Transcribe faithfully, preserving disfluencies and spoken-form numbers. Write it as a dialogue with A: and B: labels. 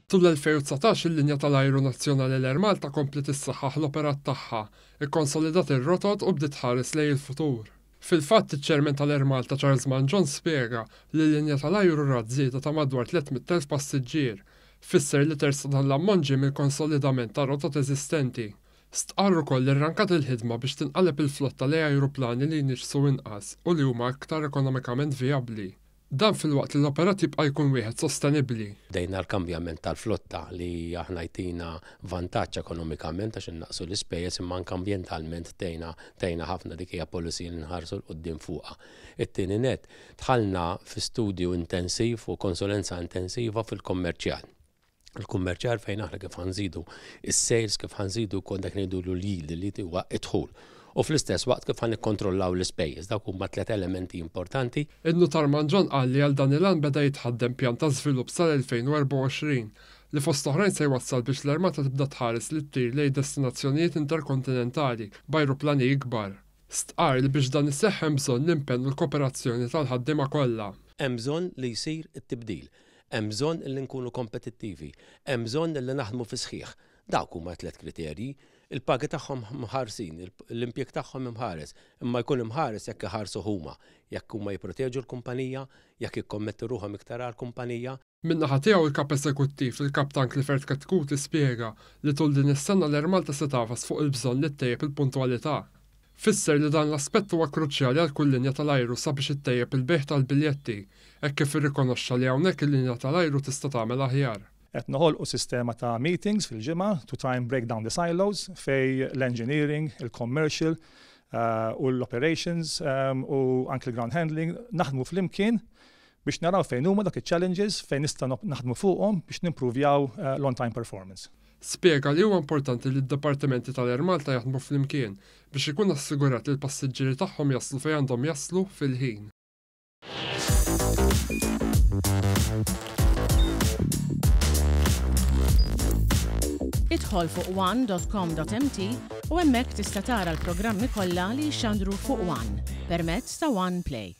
A: Tul l-elfejn u dsatax il-linja tal-ajru nazzjonali l-Air Malta kompliet issaħħaħ l-operat tagħha, ikkonsolidat ir-rotot u bdiet tħares lejn il-futur. Fil-fatt, iċ-ċermen tal-Air Malta Charles Mangion spjega li l-linja tal-ajru rat żieda ta' madwar tliet mitt elf passiġġier. Fisser li terz ta' dan l-ammont ġie mill-konsolidament ta' rotot eżistenti. Stqarr ukoll li rrankat il-ħidma biex tinqaleb il-flotta lejn ajruplani li jniġsu inqas u li huma aktar ekonomikament vijabbli. Dan filwaqt li l-operat jibqa' jkun wieħed sostenibbli.
B: Bdejna l-kambjament tal-flotta li aħna jtina vantaġġ ekonomikament għax innaqsu l-ispejjeż, imma anke ambjentalment tgħinna tgħinna ħafna. Dik hija policy li nħarsu 'l quddiem fuqha. It-tieni net, dħalna fi studju intensiv u konsulenza intensiva fil-kommerċjal. Il-kummerċjal fejn aħna kif ħa nżidu is-sales, kif ħa nżidu kont dak ngħidu l-yield li huwa id-dħul. U fl-istess waqt kif ħa nikkontrollaw l-ispejjeż. Dawk huma tliet elementi importanti.
A: In-nutar Mangion qal li għal dan il-għan beda jitħaddem pjan ta' żvilupp sal-elfejn u erbgħa u għoxrin li fost oħrajn se jwassal biex l-Air Malta tibda tħares li ttir lejn destinazzjonijiet interkontinentali b'ajruplani ikbar. Stqarr li biex dan iseħħ hemm bżonn l-impenn u l-kooperazzjoni tal-ħaddiema kollha.
B: Hemm bżonn li jsir it-tibdil. Hemm bżonn li nkunu kompetittivi. Hemm bżonn li naħdmu fi sħiħ. Dawk huma tliet kriterji. Il-pagi tagħhom mħarsin, l-impjeg tagħhom imħares, imma jkun imħares jekk iħarsu huma, jekk huma jipproteġu l-kumpanija, jekk jikkommettu ruħhom iktar għall-kumpanija.
A: Min-naħa tiegħu, il-kap eżekuttiv, il-kaptan Clifford Chetcuti, spjega li tul din is-sena l-Air Malta se tagħfas fuq il-bżonn li ttejjeb il-puntwalità. Fisser li dan l-aspett huwa kruċjali għal kull linja tal-ajru sabiex ittejjeb il-bejgħ tal-biljetti, hekk kif irrikonoxxa li hawnhekk il-linja tal-ajru tista' tagħmel aħjar.
C: Qed noħolqu sistema ta' meetings fil-ġimgħa to try and break down the silos fej l-engineering, il-commercial uh, u l-operations um, u anke l-ground handling naħdmu flimkien biex naraw fejn huma dak il-challenges fejn nistgħu naħdmu fuqhom biex nimprovjaw uh, l-on-time performance.
A: Spjega li huwa importanti li d-dipartimenti tal-Air Malta jaħdmu flimkien biex ikun assigurat li l-passiġġieri tagħhom jaslu fejn għandhom jaslu fil-ħin.
D: Idħol fuq one dot com dot M T u hemmhekk tista' tara l-programmi kollha li jxandru fuq One permezz ta' One Play.